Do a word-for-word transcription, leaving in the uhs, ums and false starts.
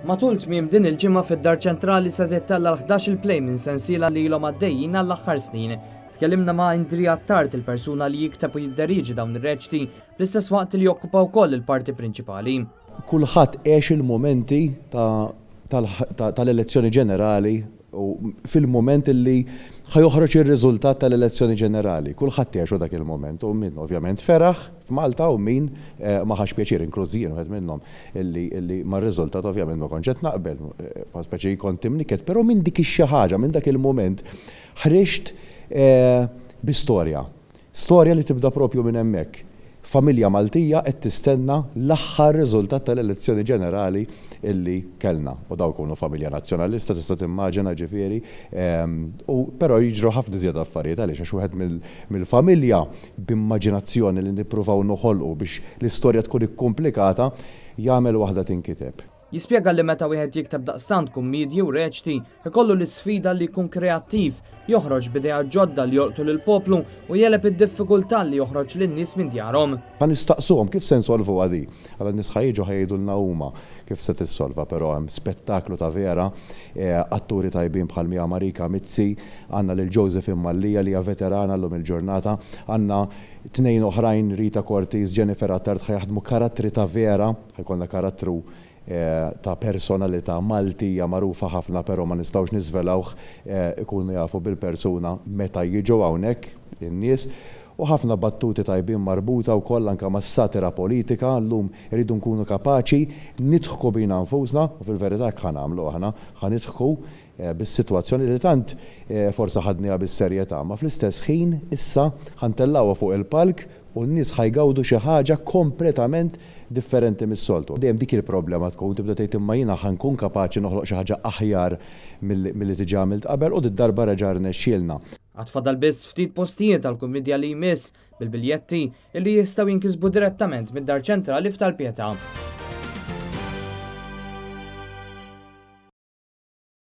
Matul tmiem din il-ġimgħa fid-Dar Ċentrali se tittella' l-ħdax-il play minn sensiela li ilhom għaddejjin għall-aħħar snin. Tkellimna ma' Indri Attard, il-persuna li jikteb u jidderieġi dawn ir-reċti, fl-istess waqt li jokkupa wkoll il-parti prinċipali. Kulħadd għex il-momenti tal-elezzjoni ġenerali u fil-moment li ħa joħroġ ir-riżultat tal-elezzjoni ġenerali. Kulħadd għexu dak il-moment u min ovvjament feraħ f'Malta u min eh, ma ħax pjaċir, inkluż jien wieħed minnhom illi mar-riżultat ovvjament ma kontx qed naqbel, eh, speċi kont imnikket, però minn dik ix-xi ħaġa, minn dak il-moment ħriġt eh, bi storja. Storja li tibda propju minn hemmhekk. Familja Maltija qed tistenna l-aħħar riżultat tal-elezzjoni ġenerali illi kellna. U daw kunu familja nazzjonalista, tista' timmaġina ġifieri, ehm, u però jiġru ħafna iżjed affarijiet għaliex għax wieħed mill-familja b'immaġinazzjoni li nippruvaw noħolqu biex l-istorja tkun ikkomplikata jagħmel waħda tinkiteb. Jispjega li meta wieħed jikteb daqstant kummedji u reċti, ikollu l-isfida li jkun kreattiv, joħroġ b'idea ġodda li jolqtu lill-poplu u jegħleb id-diffikultà li joħroġ lin-nies minn djarhom. Ħa nistaqsuhom kif se nsolvu għadi. Għala n-nies ħa jiġu ħa jgħidulna huma kif se tissolva, però hemm spettaklu ta' vera, eh, atturi tajbin bħal Mia Marika Mizzi, għandna lil Josephine Mallia li hija veterana llum il-ġurnata, għandna tnejn oħrajn, Rita Cortis, Jennifer Attard, ħa jaħdmu karattri ta' vera, ħa jkollna karattru eh, ta' personalità Maltija magħrufa ħafna, però ma nistgħux niżvelawh, eh, ikunu jafu bil-persuna meta jiġu hawnhekk in-nies, u ħafna battuti tajbin marbuta wkoll anke mas-satira politika. Llum irridu nkunu kapaċi nidħku bina nfusna u fil-verità hekk ħa nagħmlu aħna, ħa nidħku eh, bis-sitwazzjoni li tant forsi ħadniha bis-serjetà, ma fl-istess ħin issa ħa ntellgħuha fuq il-palk u n-nies ħa jgawdu xi ħaġa kompletament differenti mis-soltu. Dejjem dik il-problema tkun tibda tgħid imma jiena ħa nkun kapaċi noħloq xi ħaġa aħjar milli diġà għamilt qabel, u d-darba reġa' rnexxielna. Għad fadal biss ftit postijiet għal kumedja li jmiss, bil-biljetti illi jistgħu jinkisbu direttament mid-Dar Ċentrali f'Tal-Pietà.